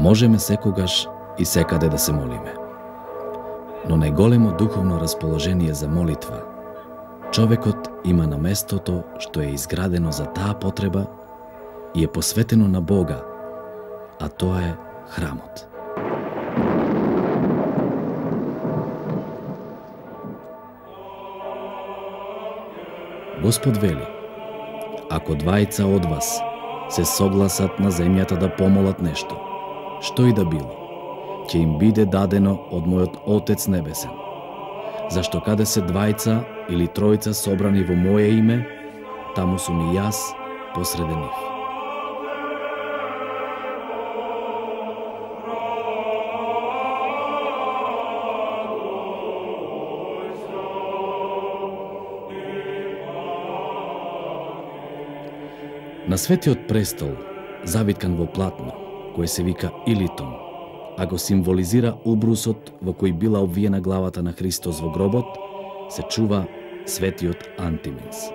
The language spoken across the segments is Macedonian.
Можеме секогаш и секаде да се молиме. Но најголемо духовно расположение за молитва човекот има на местото што е изградено за таа потреба и е посветено на Бога, а тоа е храмот. Господ вели: ако двајца од вас се согласат на земјата да помолат нешто, што и да било, ќе им биде дадено од мојот Отец Небесен. Зашто каде се двајца или тројца собрани во моје име, таму сум и јас посреде нив. На светиот престол, завиткан во платно, кој се вика Илитон, а го символизира убрусот во кој била обвиена главата на Христос во гробот, се чува светиот Антиминс.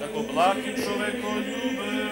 Како благ и човеколюбец.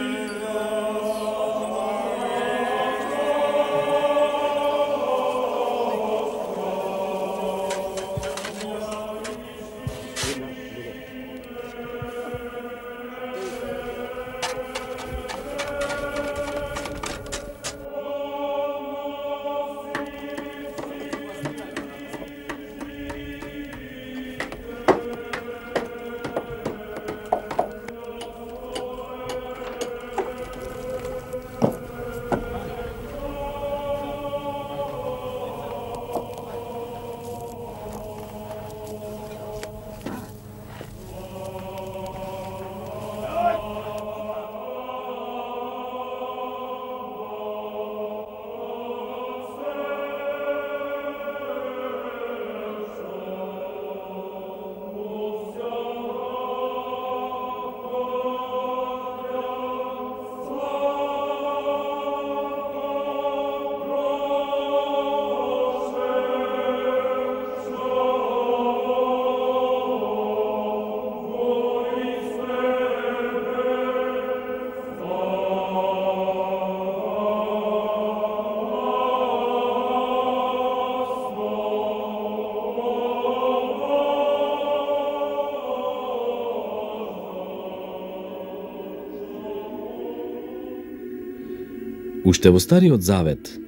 Уште во Стариот Завет,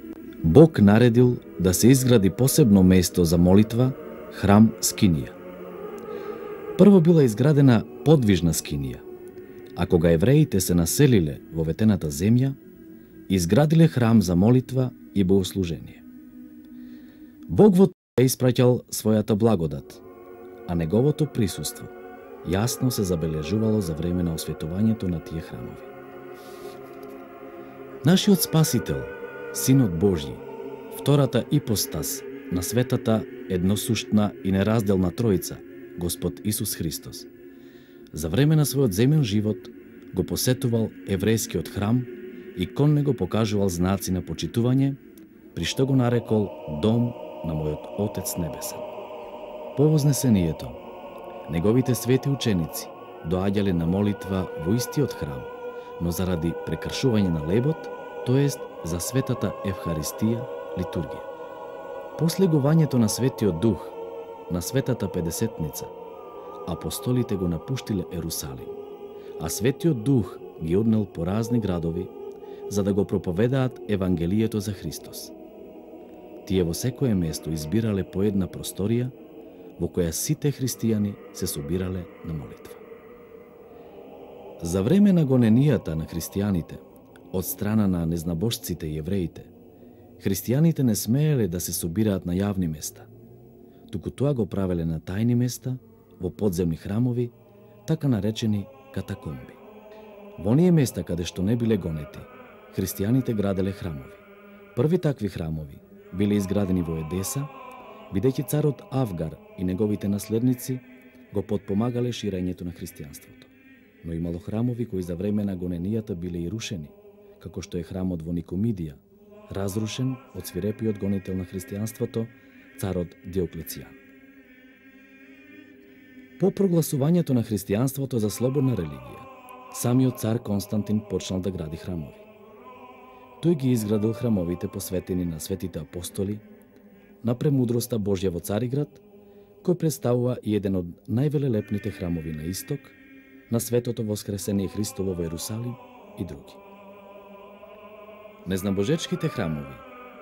Бог наредил да се изгради посебно место за молитва храм скинија. Прво била изградена подвижна скинија, а кога евреите се населиле во ветената земја, изградиле храм за молитва и богослужение. Бог во тоа испраќал својата благодат, а неговото присуство јасно се забележувало за време на осветувањето на тие храмови. Нашиот Спасител, Синот Божји, втората ипостас на светата едносуштна и неразделна Тројца, Господ Исус Христос, за време на својот земен живот го посетувал еврејскиот храм и кон него покажувал знаци на почитување, при што го нарекол Дом на мојот Отец Небесен. По вознесението, неговите свети ученици доаѓале на молитва во истиот храм, но заради прекршување на лебот, тоест за светата Евхаристија, литургија. После гувањето на Светиот Дух, на светата Педесетница, апостолите го напуштиле Ерусалим, а Светиот Дух ги однел по разни градови, за да го проповедаат Евангелието за Христос. Тие во секое место избирале по една просторија, во која сите христијани се собирале на молитва. За време на гоненијата на христијаните од страна на незнабожците и евреите, христијаните не смееле да се собираат на јавни места, туку тоа го правеле на тајни места, во подземни храмови, така наречени катакомби. Во оние места каде што не биле гонети, христијаните граделе храмови. Први такви храмови биле изградени во Едеса, бидејќи царот Авгар и неговите наследници го подпомагале ширењето на христијанството. Но имало храмови кои за време на гоненијата биле и рушени, како што е храмот во Никомидија, разрушен од свирепиот гонител на христијанството, царот Диоклецијан. По прогласувањето на христијанството за слободна религија, самиот цар Константин почнал да гради храмови. Тој ги изградил храмовите посветени на светите апостоли, на премудроста Божја во Цариград, кој представува и еден од највелелепните храмови на исток, на светото воскресение Христово во Ерусалим и други. Незнабожечките храмови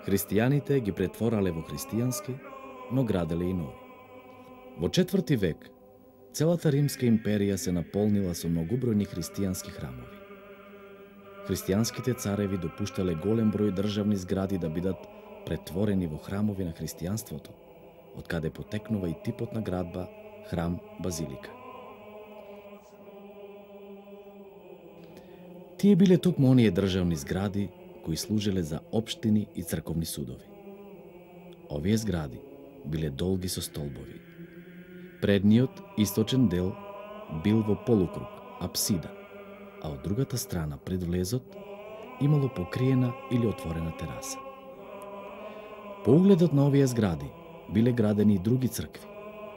христијаните ги претворале во христијански, но граделе и нови. Во 4 век целата Римска империја се наполнила со многобројни христијански храмови. Христијанските цареви допуштале голем број државни згради да бидат претворени во храмови на христијанството, од каде потекнува и типот на градба храм-базилика. Тие биле токму оние државни згради кои служеле за општини и црковни судови. Овие згради биле долги со столбови. Предниот, источен дел, бил во полукруг, апсида, а од другата страна пред влезот имало покриена или отворена тераса. По угледот на овие згради биле градени и други цркви,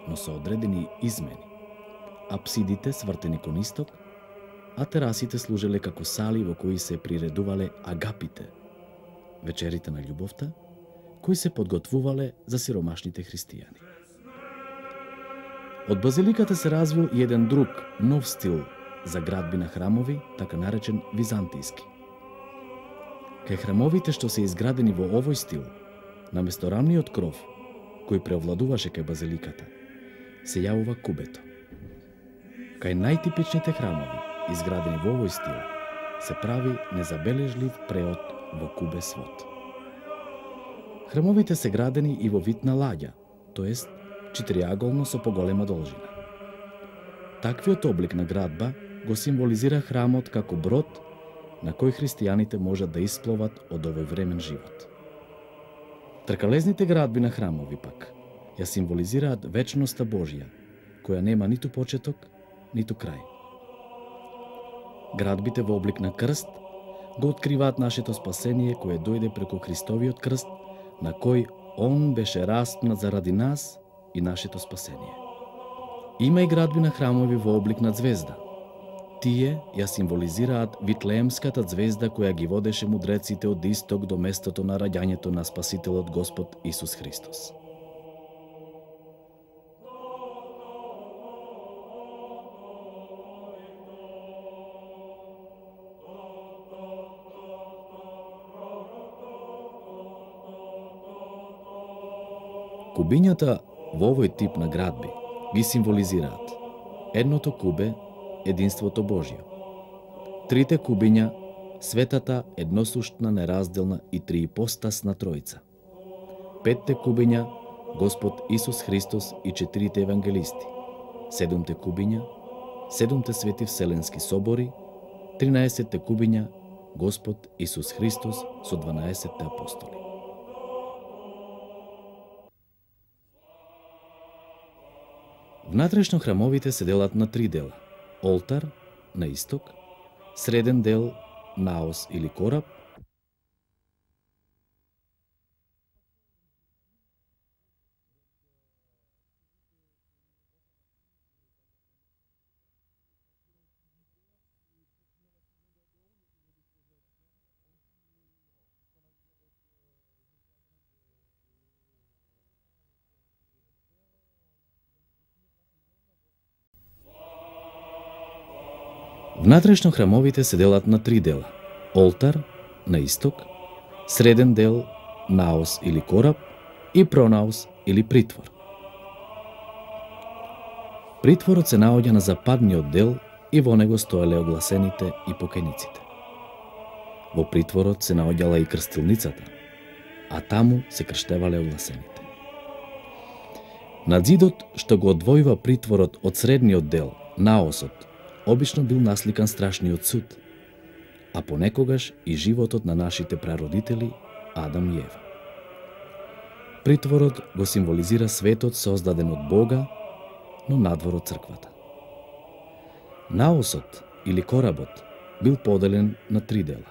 но со одредени измени. Апсидите свртени кон исток, а терасите служеле како сали во кои се приредувале агапите, вечерите на љубовта, кои се подготвувале за сиромашните христијани. Од базиликата се развил и еден друг, нов стил за градби на храмови, така наречен византијски. Кај храмовите што се изградени во овој стил, наместо рамниот кров, кој преовладуваше кај базиликата, се јавува кубето. Кај најтипичните храмови, изградени во овој стил, се прави незабележлив преод во кубе свод. Храмовите се градени и во вид на лаѓа, тоест четириаголно со поголема должина. Таквиот облик на градба го символизира храмот како брод на кој христијаните можат да испловат од овој времен живот. Тркалезните градби на храмови пак ја символизираат вечноста Божја, која нема ниту почеток, ниту крај. Градбите во облик на крст го откриваат нашето спасение кое дојде преку Христовиот крст, на кој Он беше распнат заради нас и нашето спасение. Има и градби на храмови во облик на звезда. Тие ја символизираат Витлеемската звезда која ги водеше мудреците од исток до местото на раѓањето на Спасителот Господ Исус Христос. Кубињата во овој тип на градби ги символизираат едното кубе, единството Божјо, трите кубиња, светата, едносуштна, неразделна и триипостасна Тројца, петте кубиња, Господ Исус Христос и четирите евангелисти, седумте кубиња, седумте свети вселенски собори, 13 кубиња, Господ Исус Христос со 12 апостоли. Внатрешно храмовите се делат на три дела: олтар на исток, среден дел наос или кораб Внатрешно храмовите се делат на три дела: олтар на исток, среден дел наос или кораб и пронаос или притвор. Притворот се наоѓа на западниот дел и во него стоеле огласените и покајниците. Во притворот се наоѓала и крстилницата, а таму се крштевале огласените. Над зидот што го одвојува притворот од средниот дел, наосот, обично бил насликан страшниот суд, а понекогаш и животот на нашите прародители Адам и Ева. Притворот го символизира светот создаден од Бога, но надвор од црквата. Наосот или коработ бил поделен на три дела.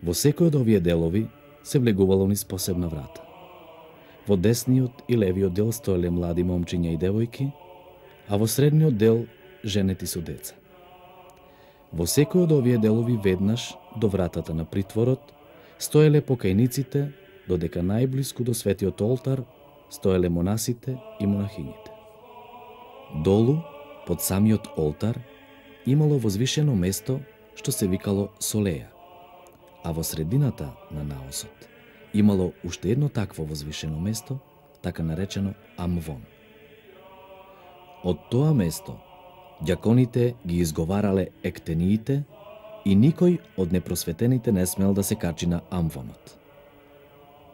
Во секој од овие делови се влегувало низ посебна врата. Во десниот и левиот дел стоеле млади момчиња и девојки, а во средниот дел женети со деца. Во секој од овие делови веднаш до вратата на притворот стоеле покајниците, додека најблиску до светиот олтар стоеле монасите и монахињите. Долу, под самиот олтар, имало возвишено место што се викало солеја, а во средината на наосот имало уште едно такво возвишено место, така наречено амвон. Од тоа место ѓаконите ги изговарале ектениите и никој од непросветените не смел да се качи на амвонот.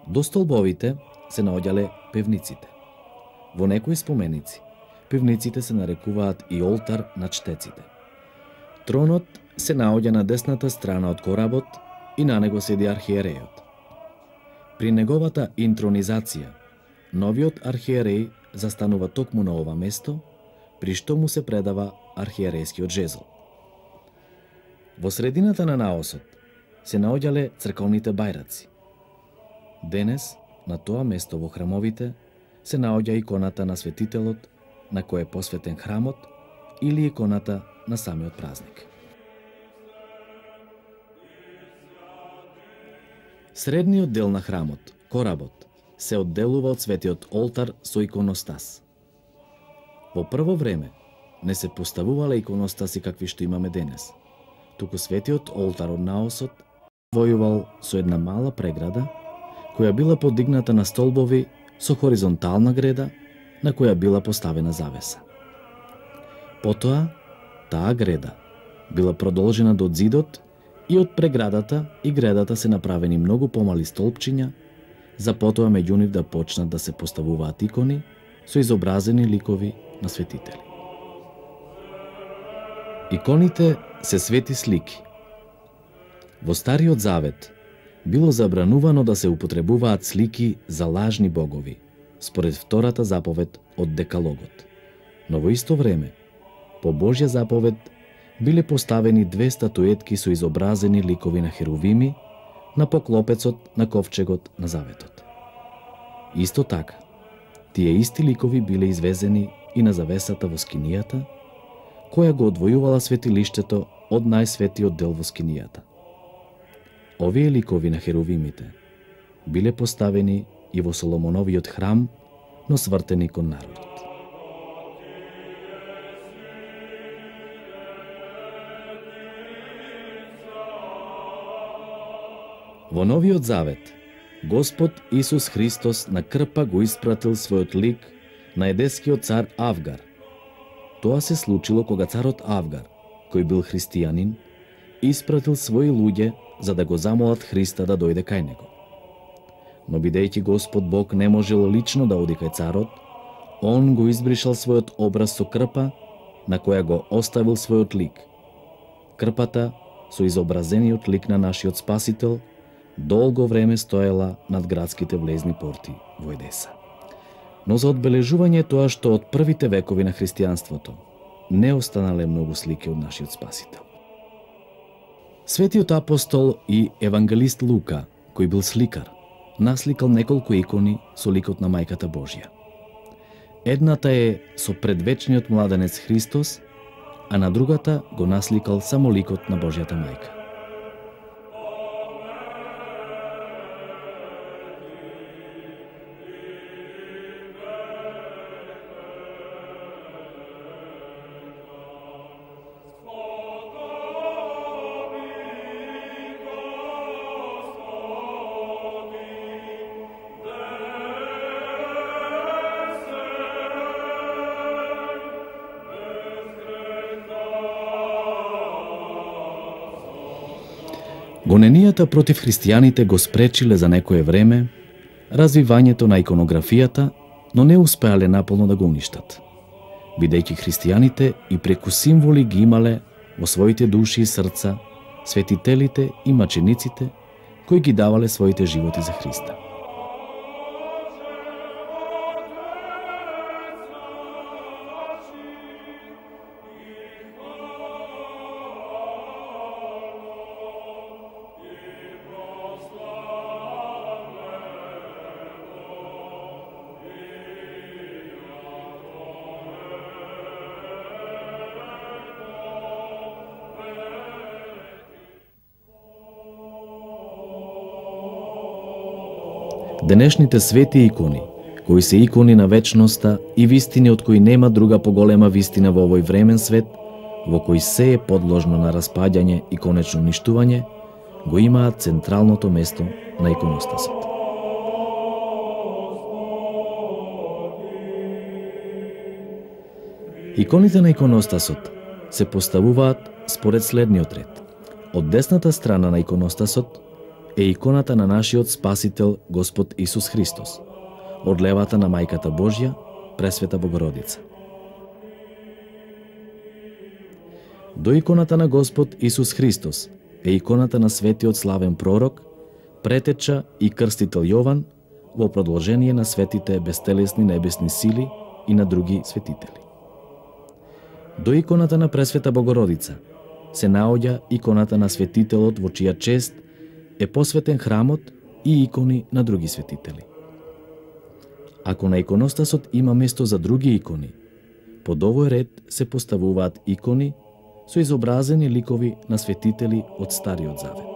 До столбовите се наоѓале певниците. Во некои споменици, певниците се нарекуваат и олтар на чтеците. Тронот се наоѓа на десната страна од коработ и на него седи архиерејот. При неговата интронизација, новиот архиереј застанува токму на ова место, при што му се предава архиерејскиот жезл. Во средината на наосот се наоѓале црковните бајраци. Денес, на тоа место во храмовите, се наоѓа иконата на светителот на кој е посветен храмот или иконата на самиот празник. Средниот дел на храмот, коработ, се одделува од светиот олтар со иконостас. Во прво време не се поставувале иконостаси какви што имаме денес, туку светиот олтар од наосот војувал со една мала преграда, која била подигната на столбови со хоризонтална греда, на која била поставена завеса. Потоа, таа греда била продолжена до зидот и од преградата и гредата се направени многу помали столбчиња, за потоа меѓу нив да почнат да се поставуваат икони со изобразени ликови на светители. Иконите се свети слики. Во Стариот Завет било забранувано да се употребуваат слики за лажни богови, според втората заповед од Декалогот. Но во исто време, по Божја заповед, биле поставени две статуетки со изобразени ликови на херувими на поклопецот на ковчегот на Заветот. Исто така, тие исти ликови биле извезени и на завесата во скинијата, која го одвојувала светилиштето од најсветиот дел во скинијата. Овие ликови на херувимите биле поставени и во Соломоновиот храм, но свртени кон народот. Во Новиот Завет, Господ Исус Христос на крпа го испратил својот лик на едескиот цар Авгар. Тоа се случило кога царот Авгар, кој бил христијанин, испратил своји луѓе за да го замолат Христа да дојде кај него. Но бидејќи Господ Бог не можел лично да оди кај царот, он го избришал својот образ со крпа, на која го оставил својот лик. Крпата со изобразениот лик на нашиот Спасител долго време стоела над градските влезни порти во Едеса. Но за одбележување тоа што од првите векови на христијанството не останале многу слики од нашиот Спасител. Светиот апостол и евангелист Лука, кој бил сликар, насликал неколку икони со ликот на Мајката Божја. Едната е со предвечниот младенец Христос, а на другата го насликал само ликот на Божјата Мајка. Гоненијата против христијаните го спречиле за некое време развивањето на иконографијата, но не успеале наполно да го уништат, бидејќи христијаните и преку символи ги имале во своите души и срца светителите и мачениците кои ги давале своите животи за Христа. Денешните свети икони, кои се икони на вечноста и вистини од кои нема друга поголема вистина во овој времен свет, во кој се е подложно на распаѓање и конечно уништување, го имаат централното место на иконостасот. Иконите на иконостасот се поставуваат според следниот ред. Од десната страна на иконостасот е иконата на нашиот Спасител Господ Исус Христос, од левата на Мајката Божја, Пресвета Богородица. До иконата на Господ Исус Христос е иконата на светиот славен пророк, претеча и крстител Јован во продолжение на светите бестелесни небесни сили и на други светители. До иконата на Пресвета Богородица се наоѓа иконата на светителот во чија чест е посветен храмот и икони на други светители. Ако на иконостасот има место за други икони, под овој ред се поставуваат икони со изобразени ликови на светители од Стариот Завет.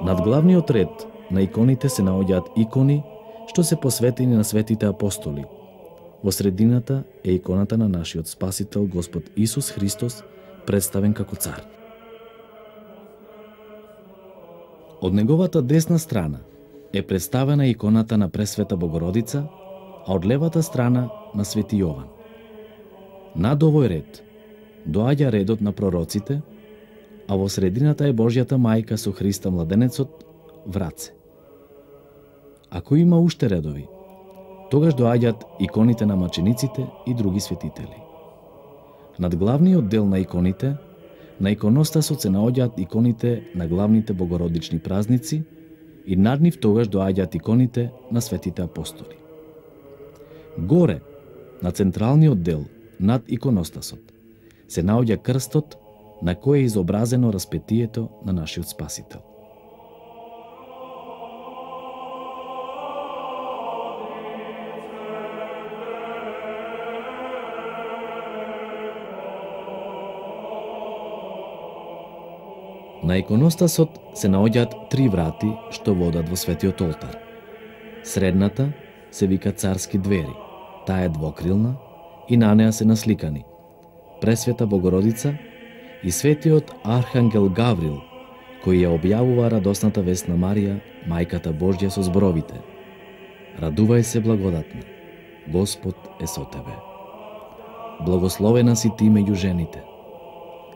Над главниот ред на иконите се наоѓаат икони што се посветени на светите апостоли. Во средината е иконата на нашиот Спасител Господ Исус Христос, представен како цар. Од неговата десна страна е представена иконата на Пресвета Богородица, а од левата страна на Свети Јован. Над овој ред доаѓа редот на пророците, а во средината е Божјата Мајка со Христа младенецот в раце. Ако има уште редови, тогаш доаѓаат иконите на мачениците и други светители. Над главниот дел на иконите, на иконостасот се наоѓаат иконите на главните богородични празници и над нив тогаш доаѓаат иконите на светите апостоли. Горе, на централниот дел, над иконостасот, се наоѓа крстот на кој е изобразено распетието на нашиот Спасител. На иконостасот се наоѓаат три врати што водат во светиот олтар. Средната се вика царски двери, таа е двокрилна и на неа се насликани Пресвета Богородица и светиот Архангел Гаврил, кој ја објавува радосната вест на Марија, мајката Божја, со зборовите: Радувај се, благодатна, Господ е со тебе. Благословена си ти меѓу жените.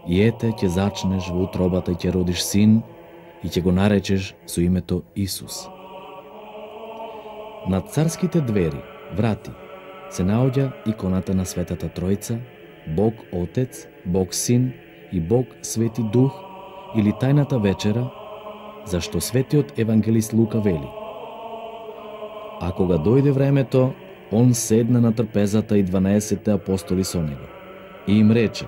И ете, ќе зачнеш во утробата и ќе родиш син и ќе го наречеш со името Исус. Над царските двери, врати, се наоѓа иконата на Светата Тројца, Бог Отец, Бог Син и Бог Свети Дух, или тајната вечера, зашто светиот евангелист Лука вели: А кога дојде времето, он седна на трпезата и 12 апостоли со него. И им рече: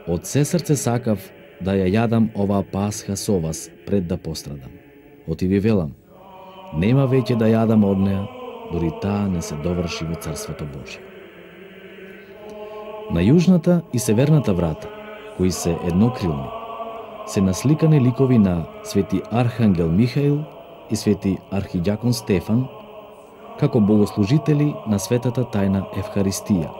Од се срце сакав да ја јадам оваа пасха со вас пред да пострадам. Оти ви велам, нема веќе да јадам од неа, дори таа не се доврши во Царството Божие. На јужната и северната врата, кои се еднокрилни, се насликани ликови на свети Архангел Михаил и свети Архиѓакон Стефан, како богослужители на светата тајна Евхаристија.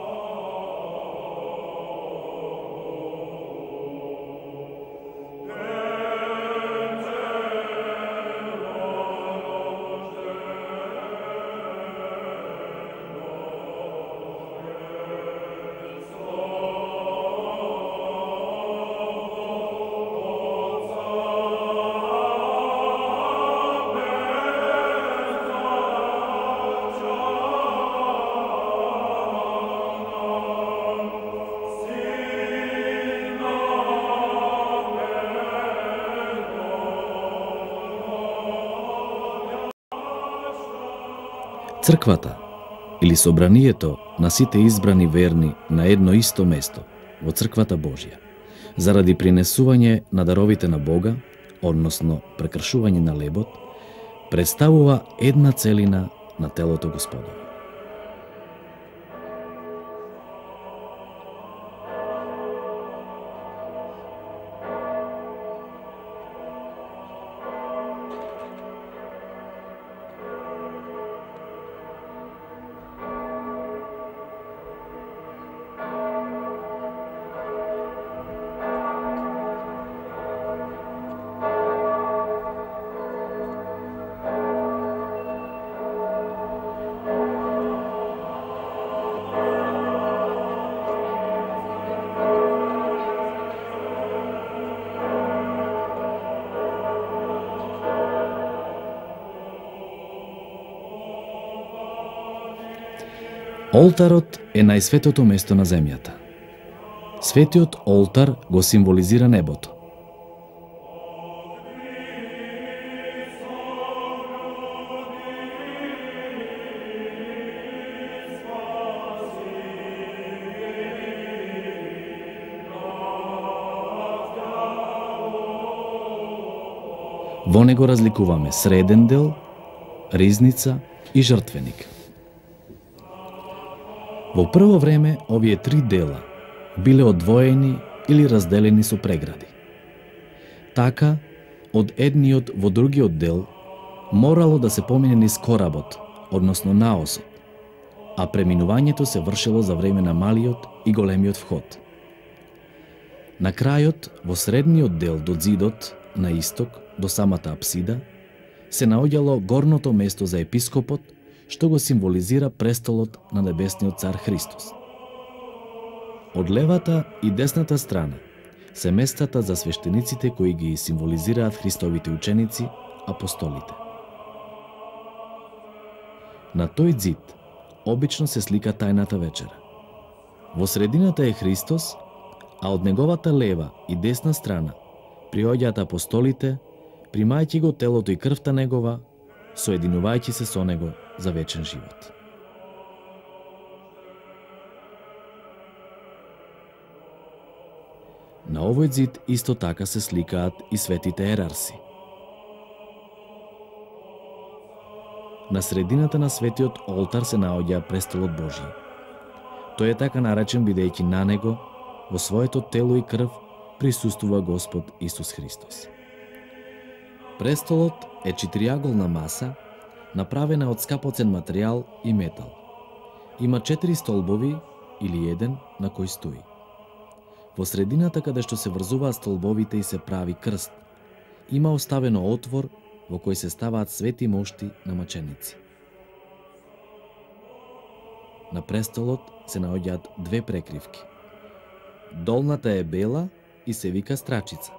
Црквата, или собранието на сите избрани верни на едно исто место, во Црквата Божја, заради принесување на даровите на Бога, односно прекршување на лебот, представува една целина на телото Господово. Олтарот е најсветото место на земјата. Светиот олтар го символизира небото. Во него разликуваме среден дел, ризница и жртвеник. Во прво време овие три дела биле одвоени или разделени со прегради. Така, од едниот во другиот дел морало да се помине низ коработ, односно наосот, а преминувањето се вршело за време на малиот и големиот вход. На крајот, во средниот дел до зидот, на исток, до самата апсида, се наоѓало горното место за епископот, што го символизира престолот на небесниот цар Христос. Од левата и десната страна се местата за свештениците кои ги символизираат Христовите ученици, апостолите. На тој зид обично се слика тајната вечера. Во средината е Христос, а од неговата лева и десна страна приоѓаат апостолите, примајќи го телото и крвта негова, соединувајќи се со него за вечен живот. На овој зид исто така се сликаат и светите ерарси. На средината на светиот олтар се наоѓа престолот Божји. Тој е така наречен бидејќи на него, во своето тело и крв, присуствува Господ Исус Христос. Престолот е четириаголна маса, направена од скапоцен материјал и метал. Има 4 столбови или еден на кој стои. Во средината каде што се врзуваат столбовите и се прави крст, има оставено отвор во кој се ставаат свети мошти на маченици. На престолот се наоѓаат две прекривки. Долната е бела и се вика страчица.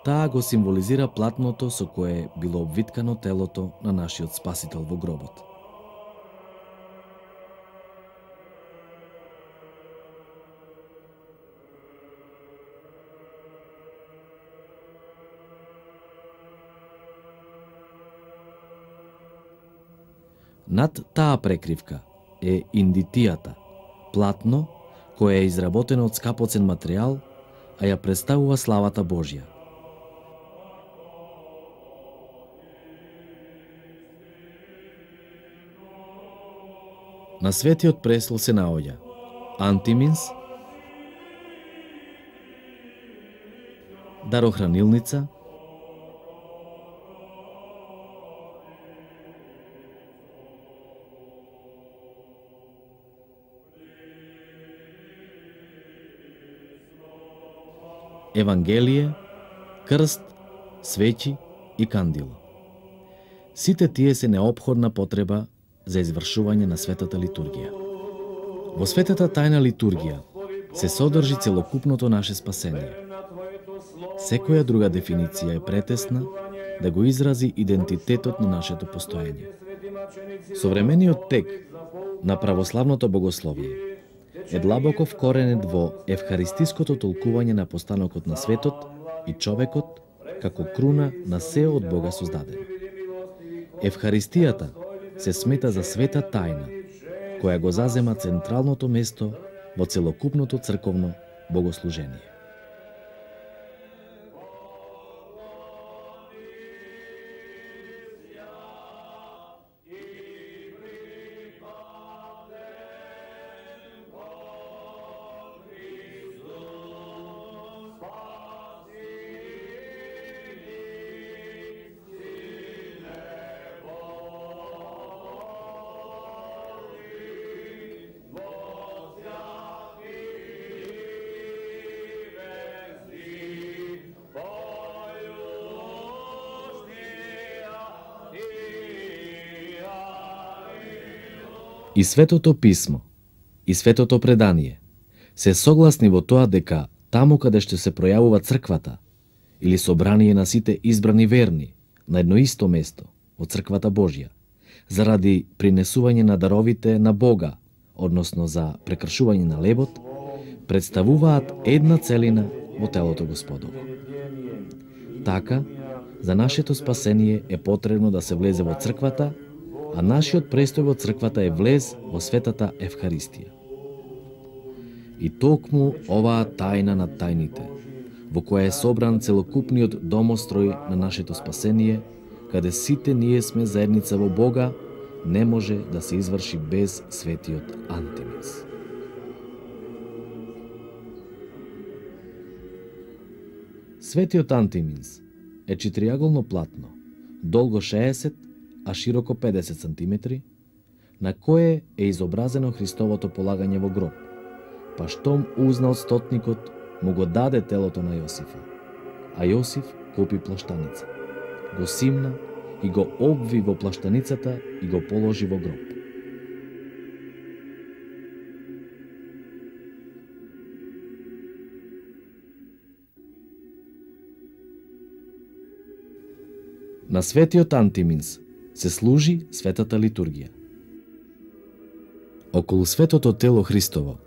Таа го символизира платното со кое било обвиткано телото на нашиот Спасител во гробот. Над таа прекривка е индитијата, платно кое е изработено од скапоцен материјал, а ја представува славата Божја. На светиот престол се наоѓа антиминс, дарохранилница, Евангелие, крст, свеќи и кандило. Сите тие се неопходна потреба за извршување на светата литургија. Во светата тајна литургија се содржи целокупното наше спасение. Секоја друга дефиниција е претесна да го изрази идентитетот на нашето постоење. Современиот тек на православното богословие е длабоко вкоренет во евхаристиското толкување на постанокот на светот и човекот како круна на се од Бога создадено. Евхаристијата се смета за света тајна, која го зазема централното место во целокупното црковно богослужение. И Светото Писмо, и Светото Предание се согласни во тоа дека таму каде што се пројавува црквата или собрание на сите избрани верни на едно исто место во црквата Божја, заради принесување на даровите на Бога, односно за прекршување на лебот, представуваат една целина во телото Господово. Така, за нашето спасение е потребно да се влезе во црквата, а нашиот престој во црквата е влез во светата Евхаристија. И токму оваа тајна над тајните, во која е собран целокупниот домострој на нашето спасение, каде сите ние сме заедница во Бога, не може да се изврши без светиот антиминс. Светиот антиминс е четириаголно платно, долго 60, а широко 50 см, на кое е изобразено Христовото полагање во гроб, па штом узнал стотникот, му го даде телото на Јосифа, а Јосиф купи плаштаница, го симна и го обви во плаштаницата и го положи во гроб. На светиот антиминс се служи светата литургија. Околу светото тело Христово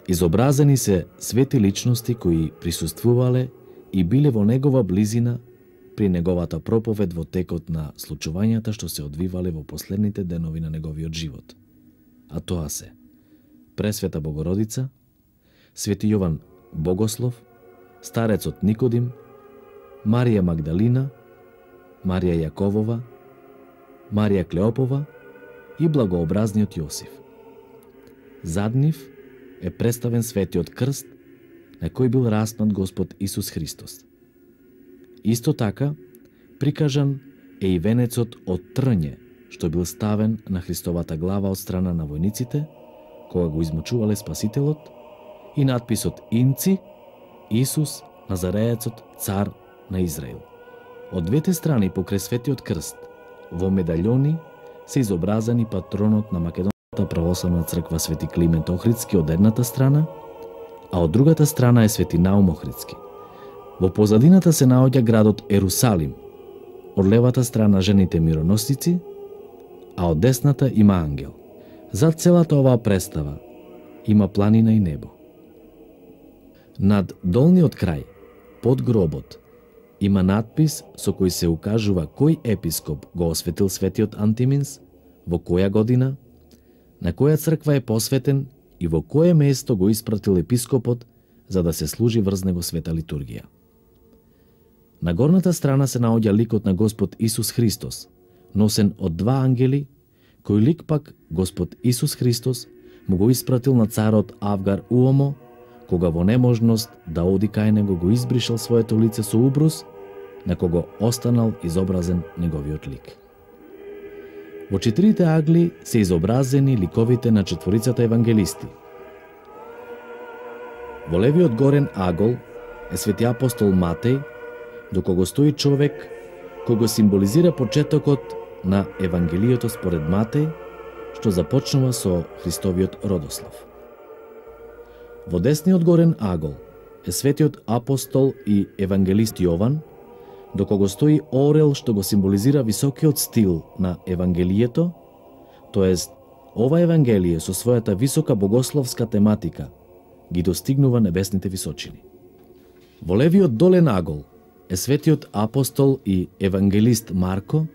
изобразени се свети личности кои присуствувале и биле во негова близина при неговата проповед во текот на случувањата што се одвивале во последните денови на неговиот живот. А тоа се Пресвета Богородица, Свети Јован Богослов, старецот Никодим, Марија Магдалина, Марија Јаковова, Марија Клеопова и благообразниот Јосиф. Зад нив е представен светиот крст на кој бил распнат Господ Исус Христос. Исто така, прикажан е и венецот од трње, што бил ставен на Христовата глава од страна на војниците, кога го измучувале Спасителот, и надписот Инци, Исус, Назареецот, цар на Израил. Од двете страни покрај светиот крст, во медаљони, се изобразени патронот на Македонската православна црква Свети Климент Охридски од едната страна, а од другата страна е Свети Наум Охридски. Во позадината се наоѓа градот Ерусалим, од левата страна жените мироносници, а од десната има ангел. Зад целата оваа представа има планина и небо. Над долниот крај, под гробот, има надпис со кој се укажува кој епископ го осветил светиот Антиминс, во која година, на која црква е посветен и во кое место го испратил епископот за да се служи врз него света литургија. На горната страна се наоѓа ликот на Господ Исус Христос, носен од два ангели, кој лик пак Господ Исус Христос му го испратил на царот Авгар Уомо, кога во неможност да оди кај него го избришал своето лице со убрус, на кого останал изобразен неговиот лик. Во четирите агли се изобразени ликовите на четворицата евангелисти. Во левиот горен агол е свети апостол Матеј, до кого стои човек кој го символизира почетокот на Евангелието според Матеј, што започнува со Христовиот родослов. Во десниот горен агол е светиот апостол и евангелист Јован, до кого стои орел што го символизира високиот стил на Евангелието, тоест ова Евангелие со својата висока богословска тематика ги достигнува небесните височини. Во левиот долен агол е светиот апостол и евангелист Марко,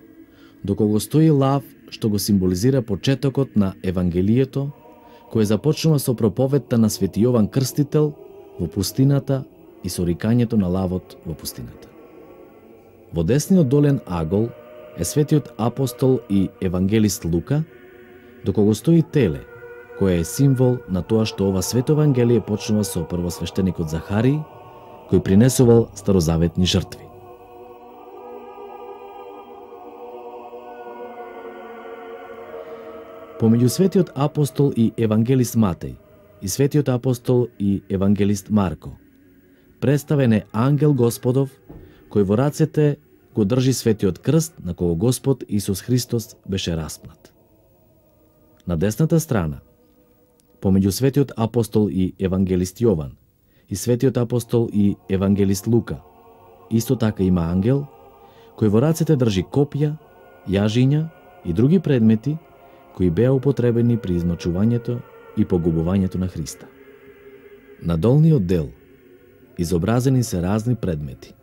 до кого стои лав што го символизира почетокот на Евангелието, кој започнува со проповедта на свети Јован Крстител во пустината и со рикањето на лавот во пустината. Во десниот долен агол е светиот апостол и евангелист Лука, до кого стои теле, кој е символ на тоа што ова свето Евангелие почнува со првосвештеникот Захарии, кој принесувал старозаветни жртви. Помеѓу светиот апостол и евангелист Матеј и светиот апостол и евангелист Марко представен е ангел Господов, кој во рацете го држи светиот крст на кого Господ Исус Христос беше распнат. На десната страна, помеѓу светиот апостол и евангелист Јован и светиот апостол и евангелист Лука, исто така има ангел, кој во рацете држи копја, јажиња и други предмети кои беа употребени при измачувањето и погубувањето на Христа. На долниот дел изобразени се разни предмети,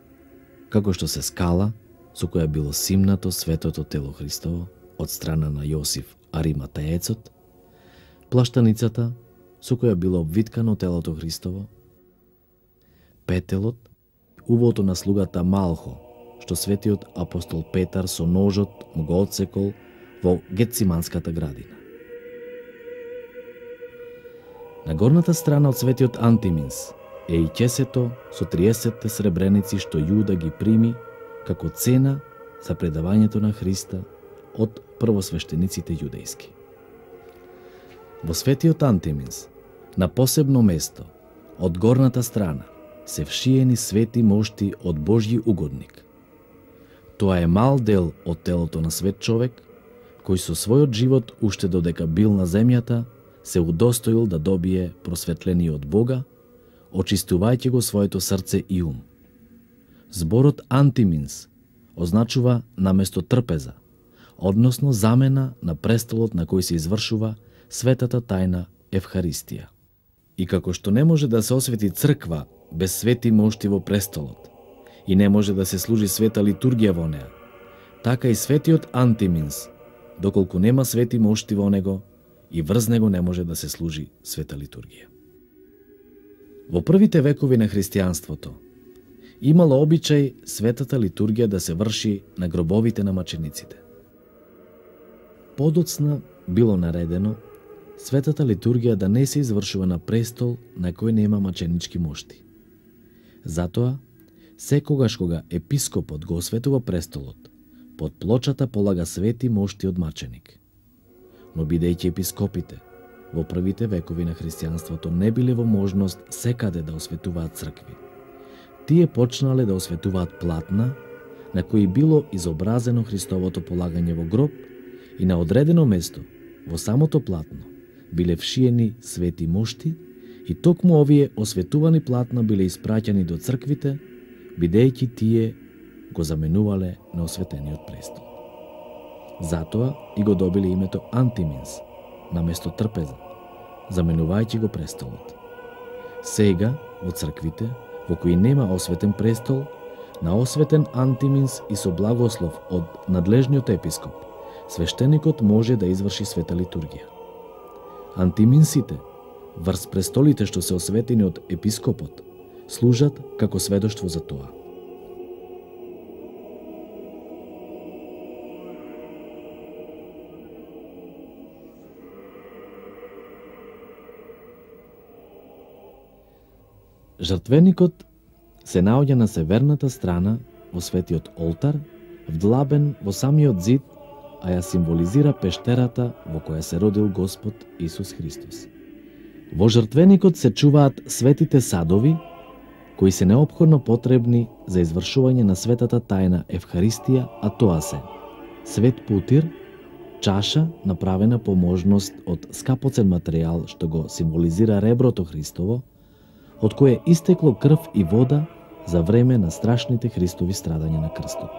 како што се скала со која било симнато светото тело Христово од страна на Јосиф Ариматеецот, плаштаницата со која било обвиткано телото Христово, петелот, увото на слугата Малхо, што светиот апостол Петар со ножот му го отсекол во Гетсиманската градина. На горната страна од светиот Антиминс е и ќесето со 30 сребреници што Јуда ги прими како цена за предавањето на Христа од првосвештениците јудејски. Во светиот Антиминс, на посебно место, од горната страна, се вшиени свети мошти од Божји угодник. Тоа е мал дел од телото на свет човек, кој со својот живот уште додека бил на земјата, се удостоил да добие просветление од Бога, очистувајќи го своето срце и ум. Зборот Антиминс означува наместо трпеза, односно замена на престолот на кој се извршува светата тајна Евхаристија. И како што не може да се освети црква без свети мошти во престолот и не може да се служи света литургија во неа, така и светиот Антиминс, доколку нема свети мошти во него, и врз него не може да се служи света литургија. Во првите векови на христијанството имало обичај светата литургија да се врши на гробовите на мачениците. Подоцна било наредено светата литургија да не се извршува на престол на кој нема маченички мошти. Затоа, секогаш кога епископот го осветува престолот, под плочата полага свети мошти од маченик. Но бидејќи епископите во првите векови на христијанството не биле во можност секаде да осветуваат цркви. Тие почнале да осветуваат платна на кои било изобразено Христовото полагање во гроб и на одредено место во самото платно биле вшиени свети мошти и токму овие осветувани платна биле испраќани до црквите, бидејќи тие го заменувале на осветениот престол. Затоа и го добиле името Антиминс, наместо трпеза, заменувајќи го престолот. Сега, во црквите, во кои нема осветен престол, на осветен Антиминс и со благослов од надлежниот епископ, свештеникот може да изврши света литургија. Антиминсите, врз престолите што се осветени од епископот, служат како сведоштво за тоа. Жртвеникот се наоѓа на северната страна во светиот олтар, вдлабен во самиот зид, а ја символизира пештерата во која се родил Господ Исус Христос. Во жртвеникот се чуваат светите садови, кои се неопходно потребни за извршување на светата тајна Евхаристија, а тоа се свет путир, чаша направена по можност од скапоцен материјал што го символизира реброто Христово, од кое истекло крв и вода за време на страшните Христови страдања на крстот.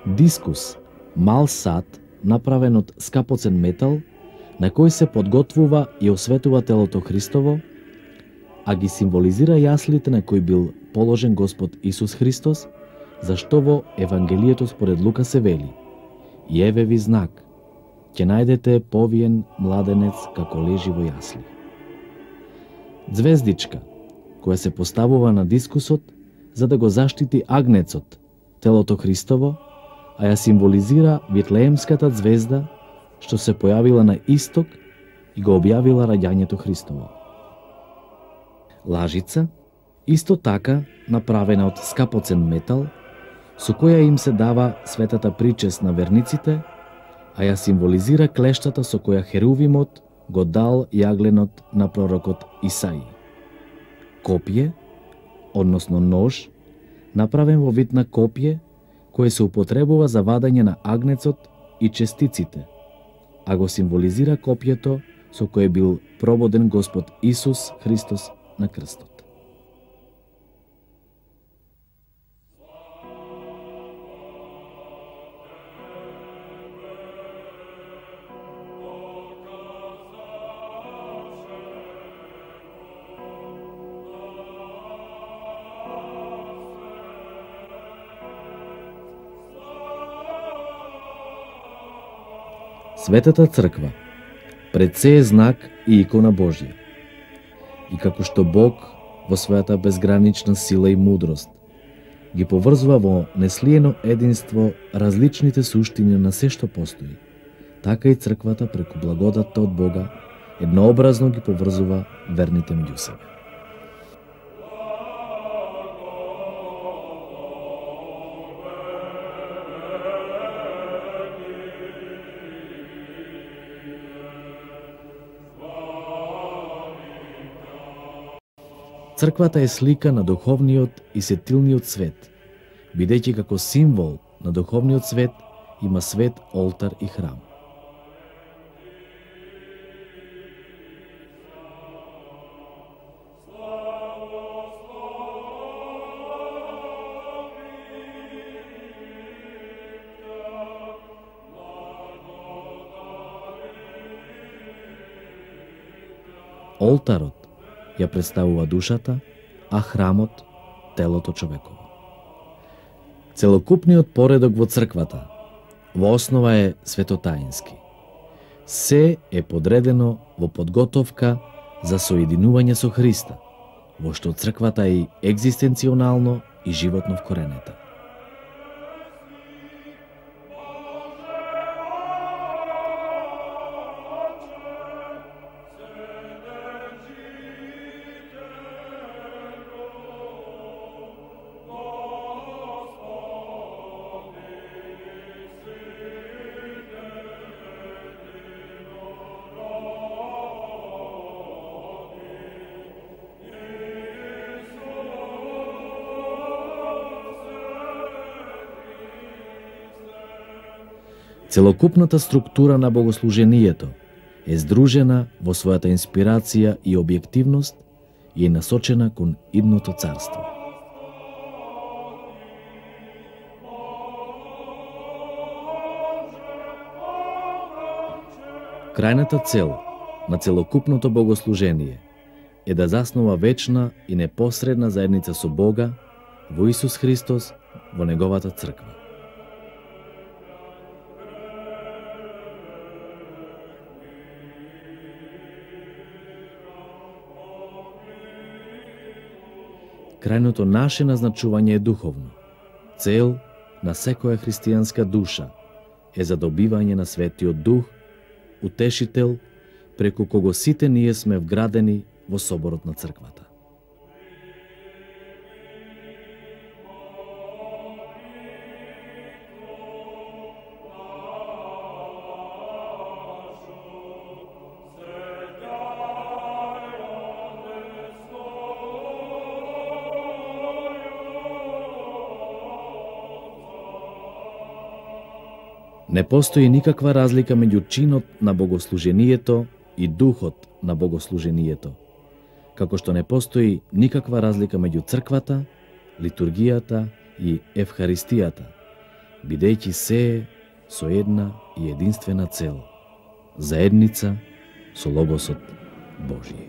Дискус, мал сад, направен од скапоцен метал, на кој се подготвува и осветува телото Христово, а ги символизира јаслите на кои бил положен Господ Исус Христос, зашто во Евангелието според Лука се вели: „И еве ви знак, ќе најдете повиен младенец како лежи во јасли“. Звездичка, која се поставува на дискусот за да го заштити агнецот, телото Христово, а ја символизира Витлеемската звезда што се појавила на исток и го објавила раѓањето Христово. Лажица, исто така направена од скапоцен метал, со која им се дава светата причест на верниците, а ја символизира клештата со која Херувимот го дал јагленот на пророкот Исаија. Копје, односно нож, направен во вид на копје, кое се употребува за вадање на агнецот и честиците, а го символизира копјето со кое бил прободен Господ Исус Христос на крстот. Светата црква пред се е знак и икона Божја. И како што Бог во својата безгранична сила и мудрост ги поврзува во неслиено единство различните суштини на се што постои, така и црквата преку благодатта од Бога еднообразно ги поврзува верните меѓу себе. Црквата е слика на духовниот и сетилниот свет, бидејќи како символ на духовниот свет има свет олтар и храм. Олтарот ја представува душата, а храмот телото човеково. Целокупниот поредок во црквата во основа е светотаински. Се е подредено во подготовка за соединување со Христа, во што црквата е екзистенционално и животно вкоренета. Целокупната структура на богослужението е здружена во својата инспирација и објективност и е насочена кон идното царство. Крајната цел на целокупното богослужение е да заснова вечна и непосредна заедница со Бога во Исус Христос во Неговата црква. Крајното наше назначување е духовно. Цел на секоја христијанска душа е задобивање на Светиот Дух, утешител, преку кого сите ние сме вградени во соборот на црквата. Не постои никаква разлика меѓу чинот на богослужението и духот на богослужението, како што не постои никаква разлика меѓу црквата, литургијата и евхаристијата, бидејќи се е со една и единствена цел – заедница со Логосот Божие.